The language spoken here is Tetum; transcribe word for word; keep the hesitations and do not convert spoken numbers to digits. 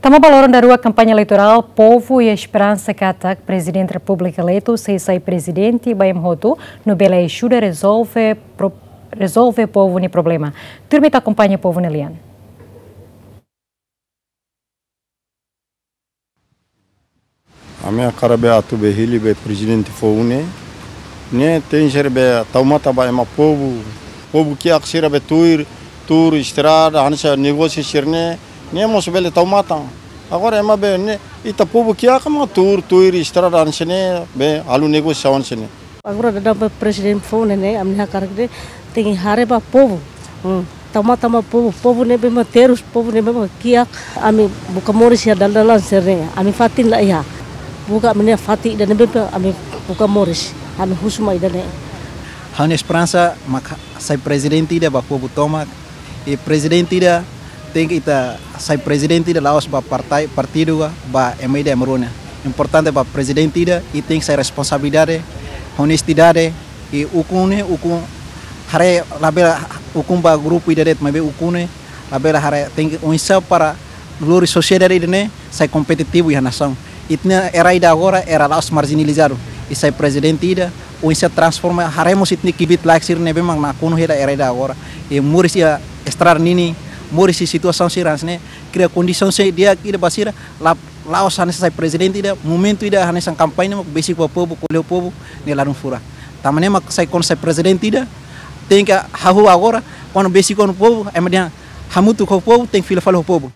Tama ba loron daruak kampaña eleitorál, povu iha esperansa katak Prezidente Repúblika eleitu sei sai prezidente ba ema hotu, no bele ajuda rezolve pro-, rezolve povu nia problema. Tuirmai ita akompaña povu nia lian. Ami hakarak be atu be hili be prezidente foun ne'e, ne'e tenke ser be tau matan ba ema povu, povu kiak sira be tuir, tuur estrada, hanesan negósiu sira-ne'e, ne'e mós bele tau matan. Agora ema be ne'e, ita povu kiak mak tuur, tuir estrada hanesan ne'e, be halo negósiu hanesan ne'e. Agora daudaun ba prezidente foun ne'e, ami hakarak de'it tenke haree ba povu. Hmm. Tau matan ba povu, povu ne'ebé mak terus, povu ne'ebé mak kiak, ami buka moris iha dalan-dalan sira-ne'e, ami fatin la iha. Buka ami-nia fatin ida ne'ebé mak ami buka moris, ami husu mak ida-ne'e. Ha'u-nia esperansa mak sai prezidente ida ba povu tomak, i prezidente ida tenke ita sai prezidente ida la'ós ba partai, partidu ka, ba ema ida ema rua nian. Importante ba prezidente ida, i tenke sai responsabilidade, onestidade, i ukun ne'e, ukun haree labele ukun ba grupu ida de'it, maibé ukun ne'e labele haree tenke oinsá para lori sosiedade ida-ne'e sai kompetitivu iha nasaun. Ita-nia era ida agora, era la'ós marjinalizadu. I sai prezidente ida, oinsá transforma, haree mós ita-nia kbiit-laek sira ne'ebé mak nakonu hela era ida agora. I moris iha estrada ninin, moris iha situasaun sira hanesan ne'e, kria kondisaun sira di'ak ida ba sira, la, la'ós hanesan sai prezidente ida, momentu ida hanesan kampaña mak besik ba povu, ko'alia ho povu, ne'e ladún furak. Tanba ne'e mak sai kuandu sai prezidente ida, tenke hahú agora, kuandu besik ho povu, ema dehan hamutuk ho povu, tenke fila fali ho povu.